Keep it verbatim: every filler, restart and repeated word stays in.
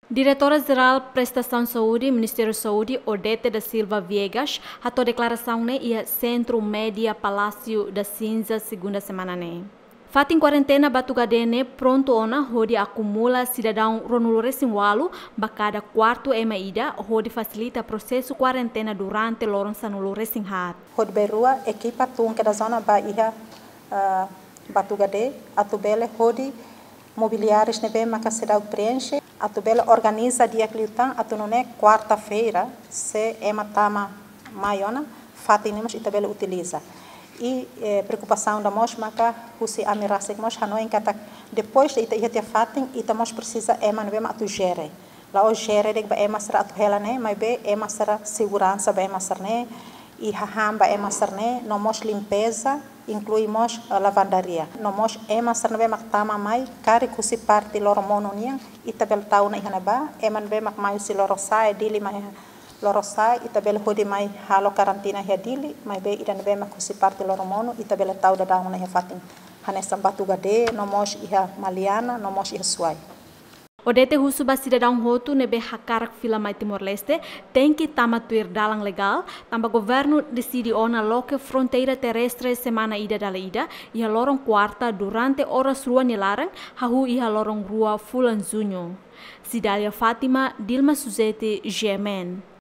Diretora Jerál Prestasaun Saúde, Ministériu Saúde, Odete da Silva Viegas, hato'o deklarasaun ne'e iha Sentru Média Palácio da Cinza, segunda semana ne'e. Fatin kuarentena Batugade ne'e prontu ona hodi akumula sidadaun ruanulu-resin-ualu ba kada kuartu ema ida, hodi fasilita prosesu kuarentena durante loron sanulu-resin-haat. Hodi bainrua ekipa tun kedas ona ba iha, ah, Batugade, atu bele hodi mobiliárius ne'ebé maka seidauk preenxe, atu bele organiza di'ak liután, atu nune'e kuarta-feira, se ema tama mai ona, fatin ne'e mós ita bele utiliza. I, eh, preokupasaun ida mós maka husi ami rasik mós hanoin katak depois de ita iha tiha fatin, ita mós presiza ema ne'ebé mak atu jere. La'ós jere de'it ba ema sira atu hela ne'e, maibé ema sira seguransa ba ema sira ne'e, i hahán ba ema sira ne'e, no mós limpeza, inklui mós, eh, lavandaria. No mós ema sira ne'ebé mak tama mai, karik husi parte loro monu nian, ita bele tau ona iha ne'ebá, ema ne'ebé mak mai husi Lorosa'e, Dili mai Lorosa'e, ita bele hodi mai halo karantina iha Dili, maibé ida ne'ebé mak husi parte loro monu, ita bele tau daudaun ona iha fatin. Hanesan Batugade, no mós iha Maliana, no mós iha Suai. Odete husu ba sidadaun hotu ne'ebé hakarak fila mai Timor-Leste, tenke tama tuir dalan legál, tanba governu deside ona loke fronteira terrestre semana ida dala ida, iha loron kuarta durante oras rua nia laran, hahú iha loron rua fulan Juñu. Cidália Fátima, Dilma Suzete, G M N.